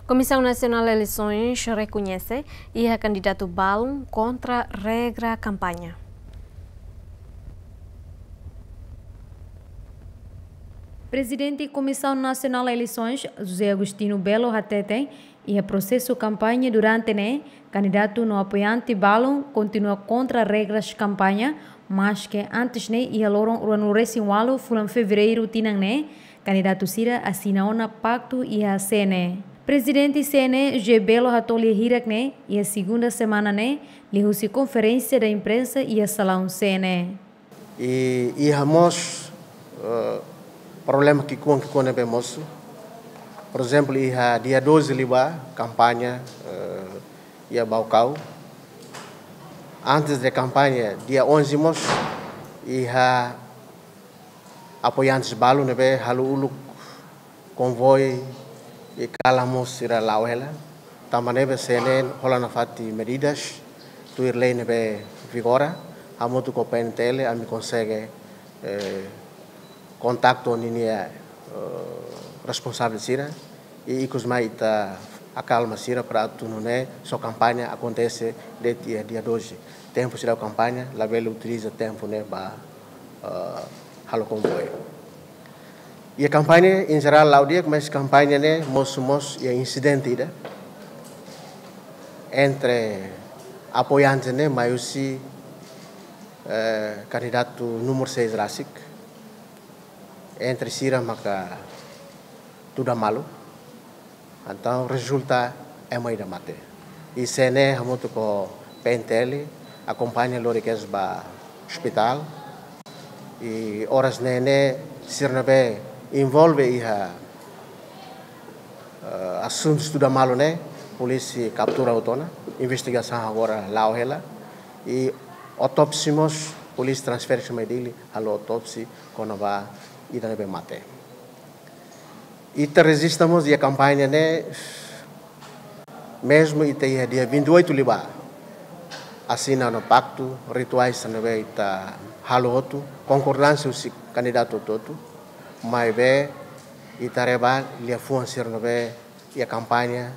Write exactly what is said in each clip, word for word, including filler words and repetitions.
Komisaun Nasionál Eleisoens rekoñese iha kandidatu balun kontra regra kampaña. Prezidente Komisaun Nasionál Eleisoens, José Agostinho Belo, hateten iha prosesu kampaña durante ne'e, kandidatu no apoiante balun kontinua kontra regras kampaña, maske antes ne'e iha loron ruanulu-resin-ualu fulan Fevereiru tinan ne'e, kandidatu sira asina ona paktu iha C N E. Prezidente C N E, José Belo, hato'o lia hirak ne'e iha segunda semana ne'e, liuhusi konferénsia da imprensa iha salaun C N E. I iha mós, eh, problema ki'ikoan-ki'ikoan ne'ebé mosu. Porezemplu, iha dia doze liubá kampaña, eh, iha Baucau. Antes de kampaña, dia onze mós, iha apoiantes balun ne'ebé halo uluk konvoi i kalan mós sira la'o hela. Tanba ne'ebé C N E hola nafatin medidas, tuir lei ne'ebé vigora, hamutuk ho P N T L, ami konsege, eh, kontaktu ninia, eh, responsavel sira, i ikus mai ita akalma sira para atu nune'e só kampaña akontese de'it iha dia doze. Tempu seidauk kampaña, labele utiliza tempu ne'e ba, eh, halo konvoi. Iha kampaña, em geral, la'o di'ak, mas kampaña ne'e mosu mós iha insidente ida entre apoiante ne'e, mai husi, eh, kandidatu númeru seis rasik, entre sira maka tuda malu. Entaun rezulta ema ida mate. I C N E hamutuk ho P N T L akompaña lori kedas ba ospitál. I oras ne'e ne'e sira ne'ebé envolve iha, eh, asuntu tuda malu ne'e, polísia kaptura hotu ona, investigasaun agora la'o hela. I autópsia mós, polísia transfere mai Dili, halo autópsia kona-ba ida ne'ebé mate. Ita rejista mós iha kampaña ne'e, mezmu ita iha dia vinte e oito liubá asina ona paktu, rituais ne'ebé ita halo hotu, konkordánsia husi kandidatu hotu-hotu, maibé ita haree ba liafuan sira ne'ebé iha kampaña,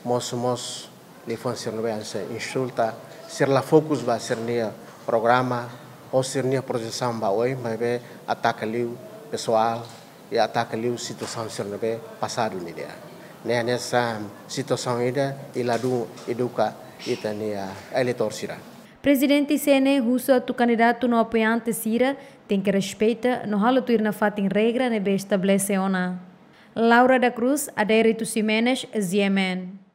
mosu mós liafuan sira ne'ebé hanesan insulta, sira la fokus ba sira-nia programa, ou sira-nia projesaun ba oin, maibé ataka liu pesoál, i ataka liu situasaun sira ne'ebé pasadu nian. Ne'e hanesan situasaun ida i ladún eduka ita-nia eleitór sira. Prezidente C N E husu atu kandidatu no apoiante sira tenke respeita no halo tuir nafatin regra ne'ebé estabelese ona. Laura da Cruz, Adérito Ximenes, G M N.